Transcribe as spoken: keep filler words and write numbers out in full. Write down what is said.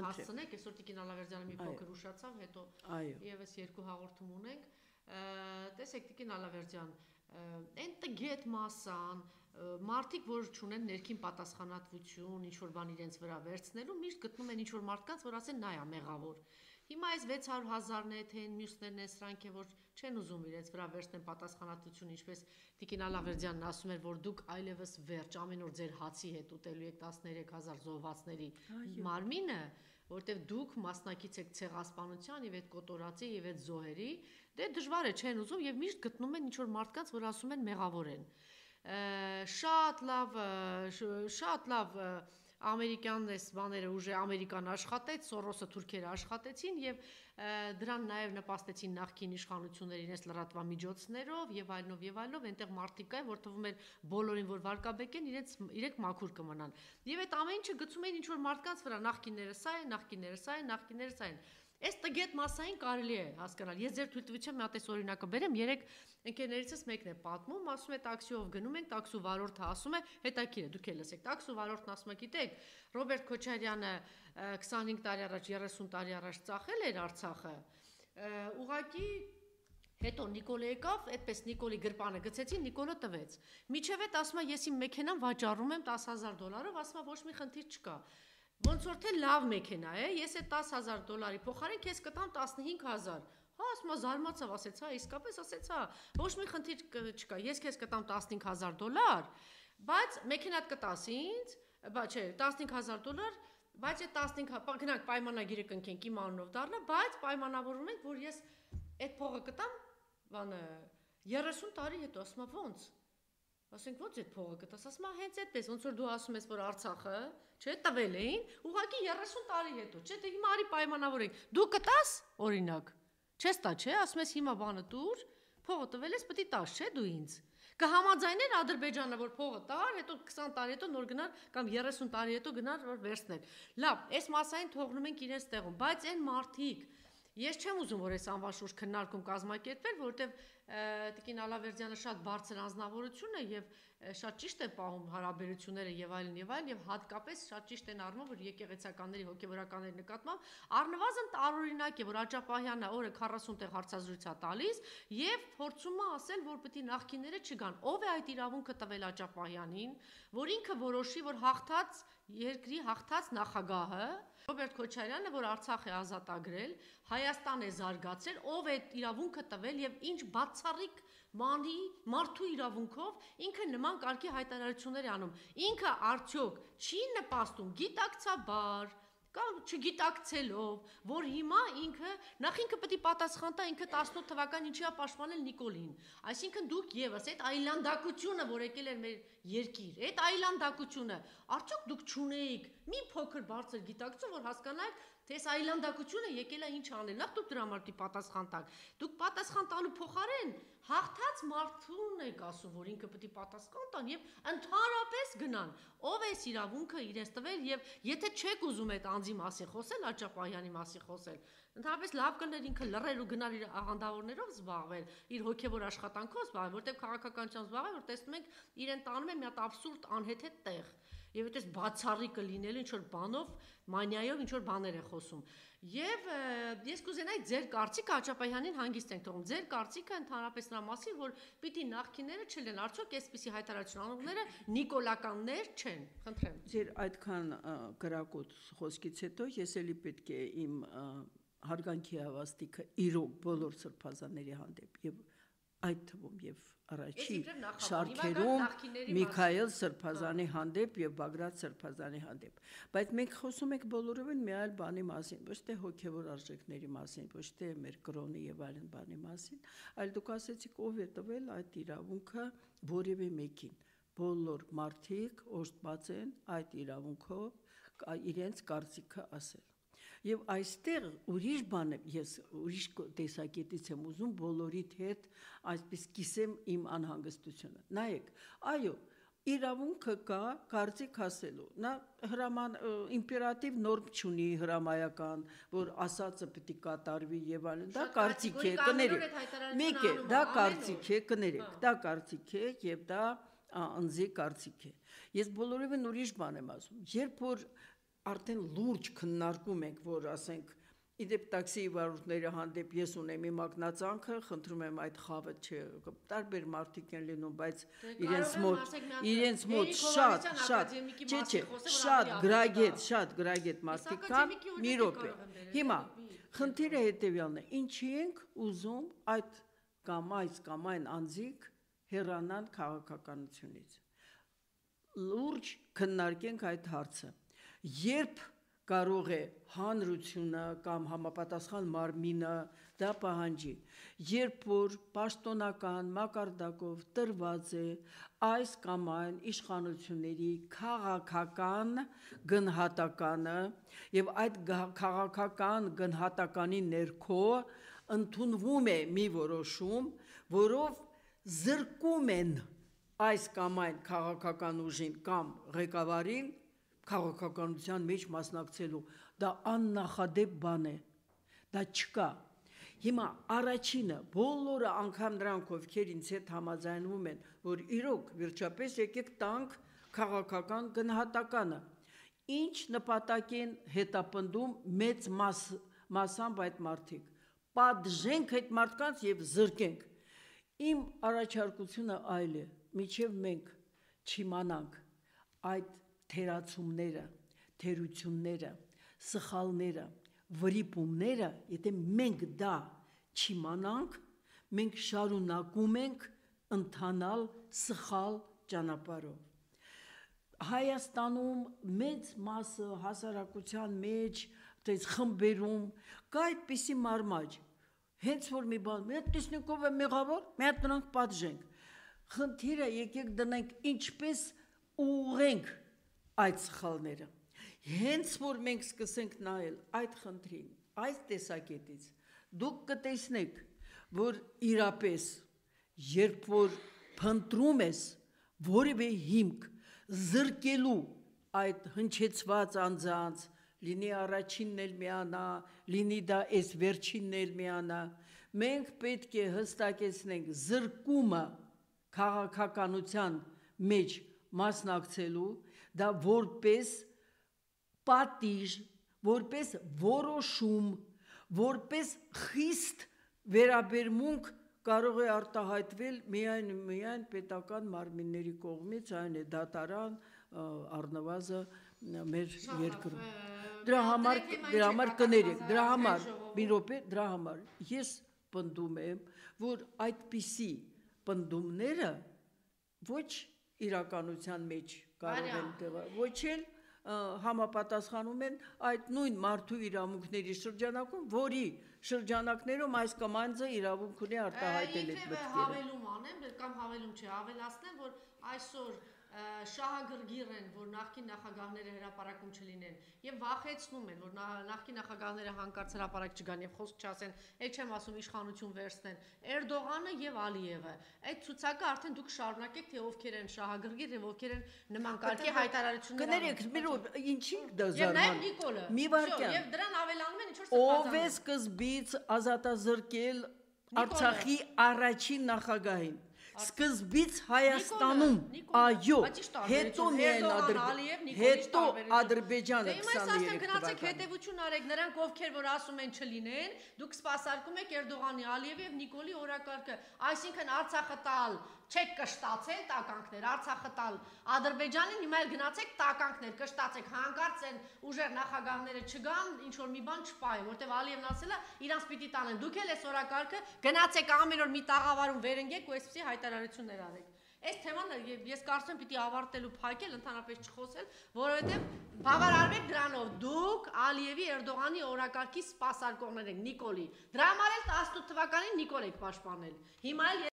Հասցնեք, այսօր Տիկին Ալավերդյանը մի փոքր ուշացավ, հետո եւս երկու հաղորդում ունենք։ Տեսեք, Տիկին Ալավերդյան, այն տգետ մասան, մարդիկ, որ չունեն ներքին պատասխանատվություն, ինչ-որ բան իրենց վրա վերցնելու, միշտ գտնում են ինչ-որ մարդկանց, որ ասեն նա է մեղավոր։ Հիմա այս վեց հարյուր հազարն է, թե մյուսներն են սրանք է, որ չեն ուզում իրենց վրա վերցնեն պատասխանատվություն, ինչպես Տիկին Ալավերդյանն ասում էր, որ դուք այլևս վերջ ամեն օր ձեր հացի հետ ուտելու եք տասներեք հազար զոհվածների մարմինը, որտեվ դուք մասնակից եք ցեղասպանության եւ այդ կոտորածի եւ այդ զոհերի, դե դժվար է չեն ուզում եւ միշտ գտնում են ինչ-որ մարդկանց, որ ասում են մեղավոր են։ Շատ լավ, շատ լավ ամերիկյան այս բաները ուժը ամերիկան աշխատեց, Սորոսը թուրքերը աշխատեցին եւ դրան նաեւ նպաստեցին նախկին իշխանությունները իրենց լրատվամիջոցներով եւ այլնով եւ այլնով, այնտեղ մարդիկ կային, որ թվում էր բոլորին որ վարկաբեկեն, իրենց իրենք մաքուր կմնան։ Եվ այդ ամեն ինչը գցում էին ինչ-որ մարդկանց վրա, նախկինները սա են, նախկինները սա են, նախկինները սա են։ Այս տգետ մասային կարելի է հասկանալ։ Ես ձեր թույլտվությամբ մի հատ այս օրինակը բերեմ, երեք ընկերներիցս մեկն է պատմում, ասում է տաքսիով գնում ենք, տաքսու վարորդը ասում է, հետաքրքիր է, դուք էլ լսեք, տաքսու վարորդն ասում է, գիտեք, Ռոբերտ Քոչարյանը քսանհինգ տարի առաջ, երեսուն տարի առաջ ծախել էր Արցախը, ուղղակի հետո Նիկոլը եկավ, այդպես Նիկոլի գրպանը գցեցին, Նիկոլը տվեց։ Միջև այդ ասում է, ես իմ մեքենան վաճառում եմ տասը հազար դոլարով, ասում է, ոչ մի խնդիր չկա։ Ոնց որ թե լավ մեքենա է, ես այդ տասը հազար դոլարի փոխարեն քեզ կտամ տասնհինգ հազար։ Հա, ասում է զարմացավ, ասեց, հա, իսկապես ասեց, հա, ոչ մի խնդիր չկա, ես քեզ կտամ տասնհինգ հազար դոլար, բայց մեքենատ կտաս ինձ, բա չէ, տասնհինգ հազար դոլար, բայց այդ տասնհինգ, գնանք պայմանագիրը կնքենք իմ անունով դառնա, բայց պայմանավորվում ենք, որ ես այդ փողը կտամ, բանը երեսուն տարի հետո, ասում է ոնց։ Ասենք ո՞նց այդ փողը կտաս, ասում է հենց այդպես, ոնց որ դու ասում ես, որ Արցախը, չէ, տվել էին, ուղղակի երեսուն տարի հետո, չէ, դե հիմա արի պայմանավորենք։ Դու կտաս, օրինակ, չես տա, չէ, ասում ես հիմա բանը տուր, փողը տվել ես, պետք է տաս, չէ, դու ինձ։ Կհամաձայներ Ադրբեջանը, որ փողը տար, հետո քսան տարի հետո նոր գնար կամ երեսուն տարի հետո գնար, որ վերցներ։ Լավ, այս մասային թողնում ենք իրենց տեղում, բայց այն մարդիկ, ես չեմ ուզում, որ այս անվաշուշ քննարկում կազմակերպվեր, որովհետև Տիկին Ալավերդյանը շատ բարձր անձնավորություն է եւ շատ ճիշտ է պահում հարաբերությունները եւ այլն եւ այլն եւ հատկապես շատ ճիշտ են առնում, որ եկեղեցականների հոգեվորականների նկատմամբ առնվազն տարօրինակ է, որ Աջապահյանը օրը քառասուն տեղ հարցազրույց է տալիս եւ փորձում է ասել, որ պետք է նախկինները չգան։ Ով է այդ իրավունքը տվել Աջապահյանին, որ ինքը որոշի, որ հաղթած երկրի հաղթած նախագահը Ռոբերտ Քոչարյանը, որ Արցախ է ազատագրել, Հայաստան է զարգացրել, ով է իրավունքը տվել եւ ինչ բացառիկ մանի մարդու իրավունքով ինքը նման կարգի հայտարարություններ է անում։ Ինքը արդյոք չի նպաստում գիտակցաբար կամ չգիտակցելով, որ հիմա ինքը նախ ինքը պետք է պատասխան տա ինքը տասնութ թվականին ինչի է պաշտպանել Նիկոլին։ Այսինքն դուք եւս այդ այլանդակությունը, որ եկել էր մեր երկիր, այդ այլանդակությունը, արդյոք դուք չունեիք մի փոքր բարձր գիտակցություն, որ հասկանաք, թե այս այլանդակությունը եկել է ինչ անել։ Նախ դուք դրա համար պատասխան տաք։ Դուք պատասխան տալու փոխարեն հաղթած մարդուն եք ասում, որ ինքը պետք է պատասխան տան եւ ընդհանրապես գնան։ Ով է իրավունքը իրենց տվել եւ եթե չեք ուզում այդ անձի մասին խոսել, Աջապահյանի մասին խոսել, ընդհանրապես լավ կներ ինքը լռել ու գնալ իր աղանդավորներով զբաղվել, իր հոգեվոր աշխատանքով զբաղվել, որտեղ քաղաքականությամբ զբաղվել, որ տեսնում ենք իրեն տանում է մի հատ абսուրդ անհեթեթ տեղ։ Եվ այդպես բացառիկը լինելու ինչ որ բանով, մանիայով ինչ որ բաներ է խոսում։ Եվ ես կուզենայի ձեր կարծիքը Աջապահյանին հանգիստ ենք թողում։ Ձեր կարծիքը ընդհանրապես նրա մասին, որ պիտի նախկինները չլեն, արդյոք այսպիսի հայտարարություն անողները նիկոլականներ չեն։ Խնդրեմ։ Ձեր այդքան գրակոտ խոսքից հետո ես էլի պետք է իմ հարգանքի հավաստիքը իրոք բոլոր սրբազանների հանդեպ եւ այդ թվում եւ առաջի շարքերում Միքայել Սրբազանի հանդեպ եւ Բագրատ Սրբազանի հանդեպ, բայց մենք խոսում ենք բոլորովին մի այլ բանի մասին, ոչ թե հոգեվոր արժեքների մասին, ոչ թե մեր կրոնի եւ այլն բանի մասին, այլ դուք ասեցիք ով է տվել այդ իրավունքը որևէ մեկին։ Բոլոր մարդիկ օժտված են այդ իրավունքով իրենց կարծիքը ասել։ Եվ այստեղ ուրիշ բան է, ես ուրիշ տեսակետից եմ ուզում բոլորիդ հետ այսպես կիսեմ իմ անհանգստությունը։ Նայեք, այո, իրավունքը կա կարծիք ասելու։ Նա հրաման իմպերատիվ նորմ չունի հրամայական, որ ասածը պետք է կատարվի եւ այլն։ Դա կարծիք է, կներեք։ Մեկ է, դա կարծիք է, կներեք, դա կարծիք է եւ դա անձի կարծիք է։ Ես բոլորովին ուրիշ բան եմ ասում։ Երբ որ արդեն լուրջ քննարկում ենք, որ ասենք իդեպ տաքսի վարորդների հանդեպ ես ունեմ իմ ակնածանքը, խնդրում եմ այդ խավը չէ, տարբեր մարդիկ են լինում, բայց իրենց մոտ իրենց մոտ շատ շատ չէ չէ շատ գրագետ, շատ գրագետ մարդիկ կան, մի րոպե։ Հիմա խնդիրը հետևյալն է, ինչի ենք ուզում այդ կամ այս կամ այն անձիկ հեռանան քաղաքականությունից։ Լուրջ քննարկենք այդ հարցը։ Երբ կարող է հանրությունը կամ համապատասխան մարմինը դա պահանջի, երբ որ պաշտոնական մակարդակով տրված է այս կամ այն իշխանությունների քաղաքական գնահատականը եւ այդ քաղաքական գնահատականի ներքո ընդունվում է մի որոշում, որով զրկում են այս կամ այն քաղաքական ուժին կամ ղեկավարին քաղաքականության մեջ մասնակցելու, դա աննախադեպ բան է, դա չկա։ Հիմա առաջինը, բոլորը անգամ նրանք, ովքեր ինձ հետ համաձայնվում են, որ իրոք վերջապես եկեք տանք քաղաքական գնահատականը, ինչ նպատակ են հետապնդում մեծ մաս, մասամբ այդ մարդիկ, պատժենք այդ մարդկանց և զրկենք։ Իմ առաջարկությունը այլ է, մինչև մենք չիմանանք այդ թերացումները, թերությունները, սխալները, վրիպումները, եթե մենք դա չիմանանք, մենք շարունակում ենք ընթանալ սխալ ճանապարհով։ Հայաստանում մեծ մասը հասարակության մեջ, այդպես խմբերում կա այդպիսի մարմաջ, հենց որ մի բան, մի հատ տեսնենք ով է մեղավոր, մի հատ նրանք պատժենք։ Խնդիրը եկեք դնենք ինչպես ուղղենք այդ սխալները։ Հենց որ մենք սկսենք նայել այդ խնդրին, այս տեսակետից, դուք կտեսնեք, որ իրապես, երբ որ փնտրում ես որևէ հիմք զրկելու այդ հնչեցված անձանց, լինի առաջինն էլ միանա, լինի դա այս վերջինն էլ միանա, մենք պետք է հստակեցնենք զրկումը քաղաքականության մեջ մասնակցելու, դա որպես պատիժ, որպես որոշում, որպես խիստ վերաբերմունք կարող է արտահայտվել միայն միայն պետական մարմինների կողմից, այն է դատարան, առնվազն մեր երկրում։ Դրա համար դրա համար կներեք, դրա համար մի րոպե, դրա համար ես պնդում եմ, որ այդպիսի պնդումները ոչ իրականության մեջ կարող են տեղա, ոչ էլ համապատասխանում են այդ նույն մարդու իրավունքների շրջանակում, որի շրջանակներում այս կամ այնձը իրավունք ունի արտահայտել այդ մտքերը։ Հավելում անեմ, կամ հավելում չէ, ավելացնեմ, որ այսօր շահագրգիռ են, որ նախկին նախագահները հրապարակում չլինեն եւ վախեցնում են, որ նախկին նախագահները հանկարծ հրապարակ չգան եւ խոսք չասեն, այդ չեմ ասում իշխանություն վերցնեն, Էրդողանը եւ Ալիևը։ Այդ ցուցակը արդեն դուք շարունակեք, թե ովքեր են շահագրգիռ եւ ովքեր են նման կարգի հայտարարություններ։ Կներեք, մի ինչի դա զարման։ Եվ նաեւ Նիկոլը։ Մի վարքյան։ Եվ դրան ավելանում են ինչ որ սպասում։ Ով է սկզբից ազատազրկել Արցախի առաջին նախագահին։ Սկզբից Հայաստանում, այո, հետո միայն հետո Ադրբեջանը քսաներեք թվականին։ Հետևություն արեք, նրանք ովքեր որ ասում են չլինեն, դուք սպասարկում եք Էրդողանի, Ալիևի եւ Նիկոլի օրակարգը, այսինքն Արցախը տալ, չեք կշտացել տականքներ, Արցախը տալ Ադրբեջանին, հիմա էլ գնացեք տականքներ, կշտացեք, հանկարծ են ուժեր նախագահները չգան, ինչ որ մի բան չպայի, որտեվ Ալիևն ասել է, իրանց պիտի տանեն, դուք էլ այս օրակարգը գնացեք ամեն օր մի տաղավարում վերընկեք ու այսպեսի հայտարարություններ արեք։ Այս թեման ես կարծում եմ պիտի ավարտելու փակել, ընդհանրապես չխոսել, որովհետև բավարարվեք դրանով, դուք Ալիևի Էրդողանի օրակարգի սպասարկողներ եք, Նիկոլի։ Դրա համար էլ տասնութ թվականին Նիկոլ եք պաշտպանել։ Հիմա էլ